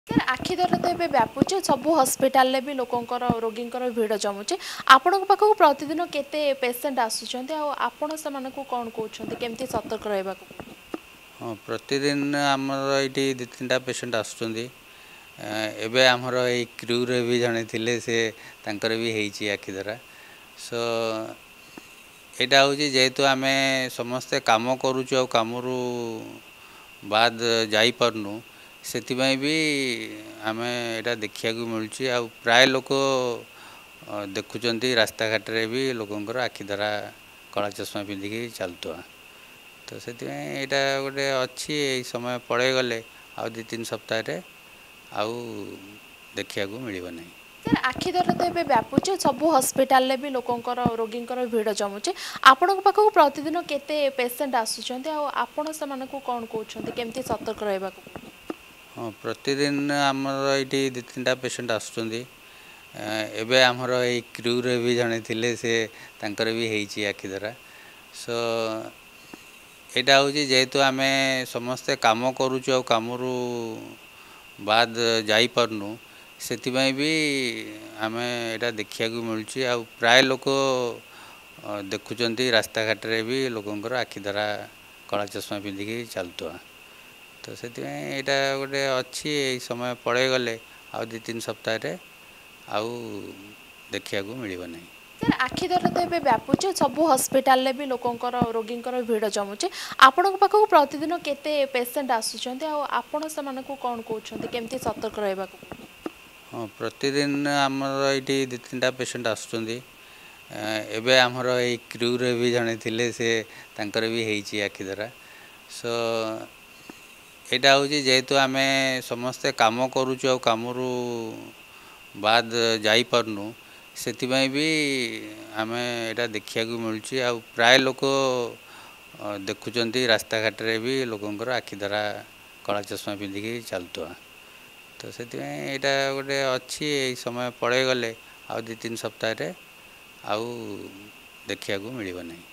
Sir, ଆଖି ଦରଜ ତ ଏବେ ବ୍ୟାପୁଛି, ସବୁ ହସ୍ପିଟାଲରେ ବି ଲୋକଙ୍କର ରୋଗୀଙ୍କର ଭିଡ଼ ଜମୁଛି। ଆପଣଙ୍କ ପାଖକୁ ପ୍ରତିଦିନ କେତେ ପେସେଣ୍ଟ ଆସୁଛନ୍ତି ଆଉ ଆପଣ ସେମାନଙ୍କୁ କ'ଣ କହୁଛନ୍ତି, କେମିତି ସତର୍କ ରହିବାକୁ? ହଁ, ପ୍ରତିଦିନ ଆମର ଏଇଠି 2 3ଟା ପେସେଣ୍ଟ ଆସୁଛନ୍ତି। ଏବେ ଆମର ଏଇ କ୍ରୁରେ ବି ଜଣେ ଥିଲେ, ସେ ତାଙ୍କର ବି ହେଇଛି ଆଖି ଧରା। ସୋ ଏଇଟା ହେଉଛି ଯେହେତୁ ଆମେ ସମସ୍ତେ କାମ କରୁଛୁ ଆଉ କାମରୁ ବାଦ ଯାଇପାରୁନୁ, ସେଥିପାଇଁ ବି ଆମେ ଏଇଟା ଦେଖିବାକୁ ମିଳୁଛି। ଆଉ ପ୍ରାୟ ଲୋକ ଦେଖୁଛନ୍ତି, ରାସ୍ତାଘାଟରେ ବି ଲୋକଙ୍କର ଆଖି ଧରା କଳା ଚଷମା ପିନ୍ଧିକି ଚାଲୁଥିବା। ତ ସେଥିପାଇଁ ଏଇଟା ଗୋଟେ ଅଛି, ଏଇ ସମୟ ପଳେଇଗଲେ ଆଉ 2 3 ସପ୍ତାହରେ ଆଉ ଦେଖିବାକୁ ମିଳିବ ନାହିଁ। ସାର୍, ଆଖି ଦରଜ ତ ଏବେ ବ୍ୟାପୁଛି, ସବୁ ହସ୍ପିଟାଲରେ ବି ଲୋକଙ୍କର ରୋଗୀଙ୍କର ଭିଡ଼ ଜମୁଛି। ଆପଣଙ୍କ ପାଖକୁ ପ୍ରତିଦିନ କେତେ ପେସେଣ୍ଟ ଆସୁଛନ୍ତି ଆଉ ଆପଣ ସେମାନଙ୍କୁ କ'ଣ କହୁଛନ୍ତି, କେମିତି ସତର୍କ ରହିବାକୁ? ହଁ, ପ୍ରତିଦିନ ଆମର ଏଇଠି 2 3ଟା ପେସେଣ୍ଟ ଆସୁଛନ୍ତି। ଏବେ ଆମର ଏଇ କ୍ରୁରେ ବି ଜଣେ ଥିଲେ, ସେ ତାଙ୍କର ବି ହେଇଛି ଆଖି ଧରା। ସୋ ଏଇଟା ହେଉଛି ଯେହେତୁ ଆମେ ସମସ୍ତେ କାମ କରୁଛୁ ଆଉ କାମରୁ ବାଦ ଯାଇପାରୁନୁ, ସେଥିପାଇଁ ବି ଆମେ ଏଇଟା ଦେଖିବାକୁ ମିଳୁଛି। ଆଉ ପ୍ରାୟ ଲୋକ ଦେଖୁଛନ୍ତି, ରାସ୍ତାଘାଟରେ ବି ଲୋକଙ୍କର ଆଖି ଧରା କଳା ଚଷମା ପିନ୍ଧିକି ଚାଲୁଥିବା। ତ ସେଥିପାଇଁ ଏଇଟା ଗୋଟେ ଅଛି, ଏଇ ସମୟ ପଳେଇଗଲେ ଆଉ 2 3 ସପ୍ତାହରେ ଆଉ ଦେଖିବାକୁ ମିଳିବ ନାହିଁ। ସାର୍, ଆଖି ଦରଜ ତ ଏବେ ବ୍ୟାପୁଛି, ସବୁ ହସ୍ପିଟାଲରେ ବି ଲୋକଙ୍କର ରୋଗୀଙ୍କର ଭିଡ଼ ଜମୁଛି। ଆପଣଙ୍କ ପାଖକୁ ପ୍ରତିଦିନ କେତେ ପେସେଣ୍ଟ ଆସୁଛନ୍ତି ଆଉ ଆପଣ ସେମାନଙ୍କୁ କ'ଣ କହୁଛନ୍ତି, କେମିତି ସତର୍କ ରହିବାକୁ? ହଁ, ପ୍ରତିଦିନ ଆମର ଏଇଠି 2 3ଟା ପେସେଣ୍ଟ ଆସୁଛନ୍ତି। ଏବେ ଆମର ଏଇ କ୍ରୁରେ ବି ଜଣେ ଥିଲେ, ସେ ତାଙ୍କର ବି ହେଇଛି ଆଖି ଧରା। ସୋ ଏଇଟା ହେଉଛି ଯେହେତୁ ଆମେ ସମସ୍ତେ କାମ କରୁଛୁ ଆଉ କାମରୁ ବାଦ ଯାଇପାରୁନୁ, ସେଥିପାଇଁ ବି ଆମେ ଏଇଟା ଦେଖିବାକୁ ମିଳୁଛି। ଆଉ ପ୍ରାୟ ଲୋକ ଦେଖୁଛନ୍ତି, ରାସ୍ତାଘାଟରେ ବି ଲୋକଙ୍କର ଆଖି ଧରା କଳା ଚଷମା ପିନ୍ଧିକି ଚାଲୁଥିବା। ତ ସେଥିପାଇଁ ଏଇଟା ଗୋଟେ ଅଛି, ଏଇ ସମୟ ପଳେଇଗଲେ ଆଉ 2 3 ସପ୍ତାହରେ ଆଉ ଦେଖିବାକୁ ମିଳିବ ନାହିଁ।